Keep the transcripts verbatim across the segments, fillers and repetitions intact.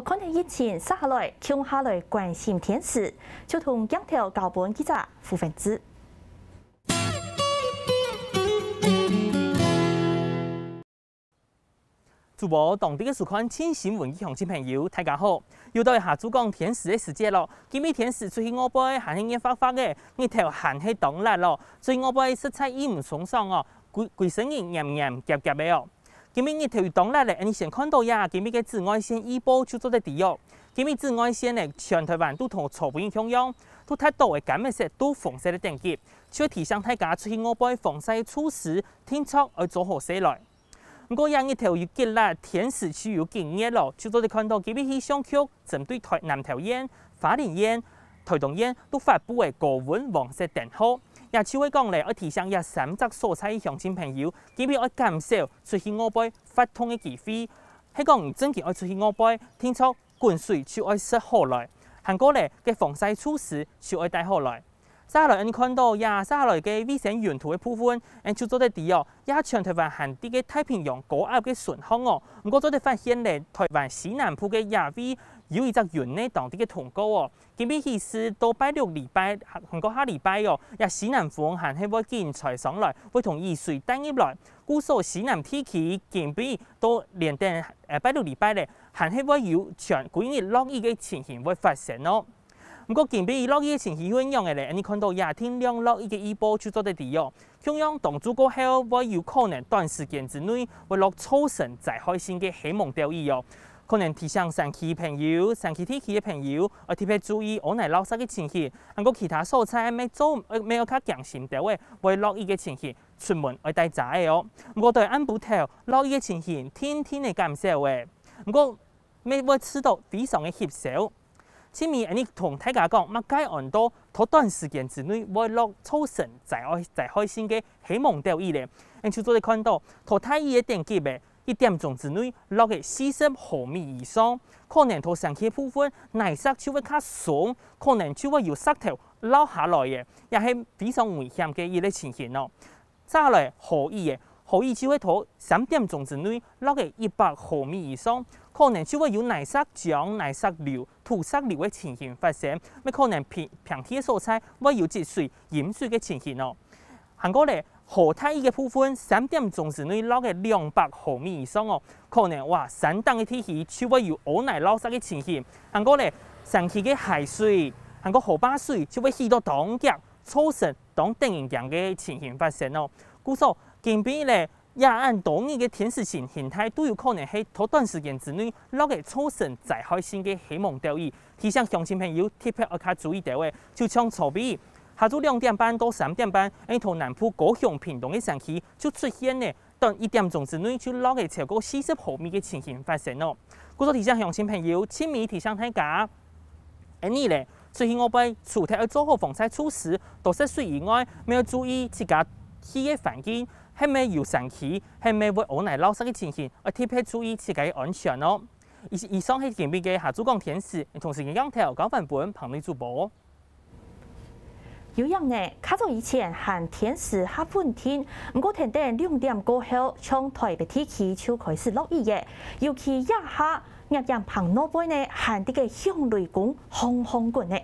看忒疫情，續下來共下來關心天時，就同鏡頭交分記者胡文志。 主播，當地个收看《聽新聞》个鄉親朋友，大家好！又到下晝講天時个時節咯。今晡日天時出去外背還係熱發發个，日頭還係當辣咯，出去外背實在異毋鬆爽哦，歸歸身人黏黏夾夾个哦。今晡日日頭又當辣咧，𠊎等先看到呀，今晡日个紫外線預報就做得知哦。今晡日紫外線呢，全台灣都同昨晡日共樣，都達到个柑仔色到紅色个等級，就提醒大家出去外背防曬个措施，定著愛做好勢來。 毋過這日頭有幾辣，天時就有幾熱咯，就做得看到今晡日氣象局針對台南桃園、花蓮縣、台東縣都發布个高溫黃色燈號。也就係講咧，愛提醒這三隻所在个鄉親朋友，今晡日愛減少出去外背活動个機會。係講正經愛出去外背，定著滾水就愛食好來，還過咧，該防曬措施就愛帶好來。 續下來，𠊎等看到這續下來个衛星雲圖个部分，𠊎等就做得知哦，這全台灣還在个太平洋高壓个脣項哦。毋過做得發現咧，台灣西南部个這位有一隻雲呢，當在該通過哦。今晡日起勢到拜六禮拜，還過下禮拜哦，這西南風還係會緊吹上來，會同雨水帶入來。故所西南地區今晡日到連等呃拜六禮拜咧，還係會有全歸日落雨个情形會發生哦。 毋過今晡日落雨个情形又仰仔咧？𠊎等看到這定量落雨个預報就做得知哦。共樣當晝過後會有可能短時間之內會落造成災害性个黑蒙兜雨哦。可能提醒山區朋友、山區地區个朋友，愛特別注意屋內澇石个情形，還過其他所在乜做乜愛較驚心兜仔，會落雨个情形，出門愛帶遮仔哦。毋過對暗晡頭落雨个情形，定定仔減少仔。毋過 乜會試著非常个翕燒。盡尾𠊎等同大家講，麼个安到在短時間之內會落造成災害災害性个黑蒙兜雨咧？𠊎等就做得看到，在大雨个等級仔，一點鐘之內落个四十毫米以上，可能在山區部分泥石就會較鬆，可能就會有石頭落下來个，也係非常危險个一個情形哦。 續下來豪雨仔，豪雨就係在三點鐘之內落个一百毫米以上，可能就會有泥石漿、泥石流、土石流个情形發生，乜可能平平地个所在會有積水、淹水个情形哦。還過咧，豪大雨个部分，三點鐘之內落个兩百毫米以上哦，可能哇，山頂个地區就會有屋泥澇石个情形。還過咧，山區个溪水，還過河壩水就會起到當遽，造成 當得人驚个情形發生哦。故所，今晡日咧，這恁多日个天時性形態都有可能係在短時間之內落个造成災害性个黑蒙兜雨，提醒鄉親朋友特別愛較注意兜仔。就像昨晡日，下晝兩點半到三點半，𠊎等南部高雄屏東个山區就出現了 短一點鐘之內就落个超過四十毫米个情形發生哦。故所提醒鄉親朋友，盡尾提醒大家，恁呢咧，出去外背除忒愛做好防曬措施、多食水以外，乜愛注意自家去个環境，係毋係有山區，係毋係會屋泥澇石个情形，愛特別注意自家个安全哦。以以上係今晡日个下晝講天時，同時間鏡頭交還分彭麗主播。 有影呢，較早以前還天時較穩定，毋過跈等兩點過後，像臺北地區就開始落雨了。尤其這下，熱炎棚外背呢，還在該響雷公轟轟滾呢。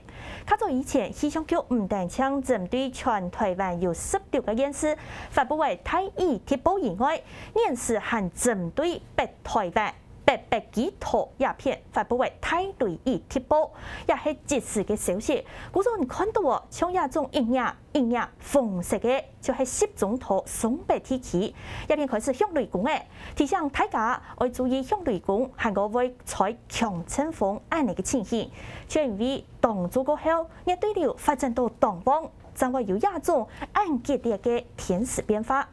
較早以前，氣象局毋單淨針對全臺灣有十六個縣市發布个大雨特報以外，現時還針對北臺灣、 北北基桃這片發布个大雷雨特報，也係即時个消息。故所你看到哦，像這種一領一領紅色个，就係集中在松北地區。這片開始響雷公了，提醒大家愛注意響雷公，還過會吹強陣風恁呢个情形。就因為當晝過後，熱對流發展到當旺，正會有這種恁激烈个天時變化。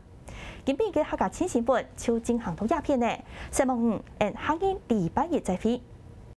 今晡日个客家新新聞就進行到這片了，承蒙你，𠊎等下個禮拜一再會。